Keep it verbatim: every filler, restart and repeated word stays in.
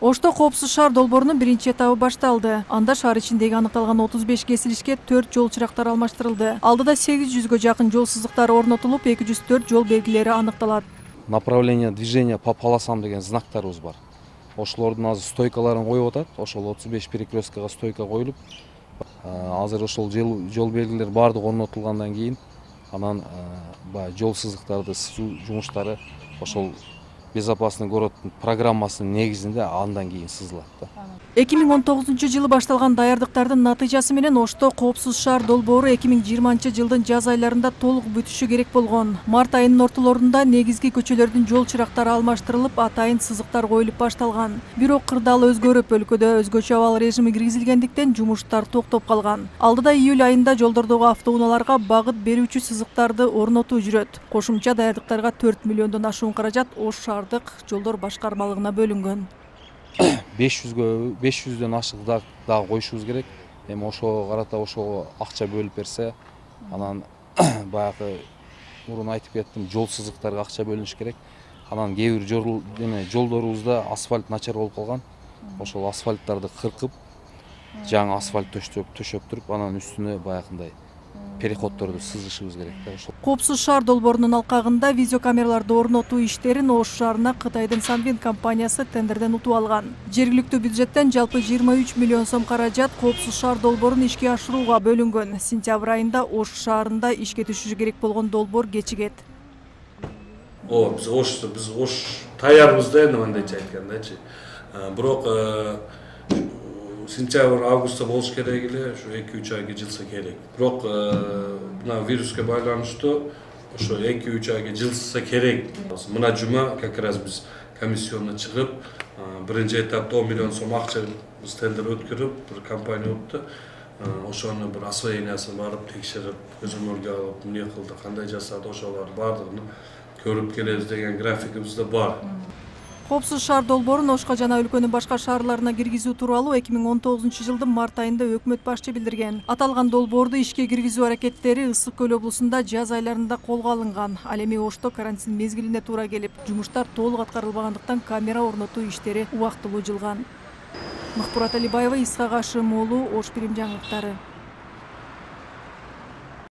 Ошто коопсуз шаар долбоорунун биринчи этабы башталды. Анда шаар ичиндеги аныкталган отуз беш кесилишке төрт жол чырактары алмаштырылды. Алдыда сегиз жүзгө жакын жол сызыктары орнотулуп, эки жүз төрт жол белгилери аныкталат. Направление движения по полосам деген знактарыбыз бар. Ошолордун азыр стойкаларын коюп атат. Ошол отуз беш перекресткага стойка коюлуп, азыр ошол жол белгилери баардыгы орнотулгандан кийин анан баягы жол сызыктарды сызуу жумуштары ошол безопасный городдун программасынын негизинде андан кийин сызылат да. эки миң он тогузунчу жылы башталган даярдыктардын натыйжасы менен Ошто коопсуз шаар долбоору эки миң жыйырманчы жылдын жаз айларында толук бүтүшү керек болгон. Март айынын ортолорунда негизги көчөлөрдүн жол чырактары алмаштырылып, атайын сызыктар коюлуп башталган. Бирок кырдаал өзгөрүп, өлкөдө өзгөчө абал режими киргизилгендиктен жумуштар токтоп калган. Алдыда июль айында жолдордогу автоунааларга багыт берүүчү сызыктарды орнотуу жүрөт. Кошумча даярдыктарга төрт миллиондон ашуун каражат Ош шаардык жолдор башкармалыгына бөлүнгөн. беш жүздөн ашык дагы коюшубуз керек. Эми ошого карата ошого акча бөлүп берсе, анан баягы мурун айтып кеттим, жол сызыктарга акча бөлүнүш керек. Анан кээ бир жол эме жолдорубузда асфальт начар болуп калган. Ошол асфальттарды кыркып, жаңы асфальт төшөп төшөп туруп, анан үстүнө баягындай переходдорду сызышыбыз керек да. Ошол Коопсуз шаар долбоорунун алкагында видеокамераларды орнотуу иштерин Ош шаарына Кытайдын Санвин компаниясы тендерден утуп алган. Жергиликтүү бюджеттен жалпы жыйырма үч миллион сом каражат коопсуз шаар долбоорун ишке ашырууга бөлүнгөн. Сентябрь айында Ош шаарында ишке түшүшү керек болгон долбоор кечигет. О, биз Ошто биз Ош таярбыз да, эми мындайча айткандачы. Бирок сентябрь августта болуш керек эле, ушу эки үч айга жылса керек. Бирок мына вируска байланыштуу ошо эки үч айга жылса керек. Мына жума как раз биз комиссионно чыгып, биринчи этапта он миллион сом акча биз тендер өткөрүп, бир компания өттү. Ошону бир освоениясын барып текшерип, көзөмөлгө алып, эмне кылды, кандай жасады, ошолор баардыгын көрүп келебиз деген графигибизде бар. Коопсуз шаар долбоорун Ошко жана өлкөнүн башка шаарларына киргизүү тууралуу эки миң он тогузунчу жылдын март айында өкмөт башчы билдирген. Аталган долбоорду ишке киргизүү аракеттери Ысык көл облусунда жаз айларында колго алынган. Ал эми Ошто карантин мезгилине туура келип, жумуштар толук аткарылбагандыктан камера орнотуу иштери убактылуу жылган. Махпурат Алибаева, Исхак Ашым уулу, Ош Бирим жаңылыктары.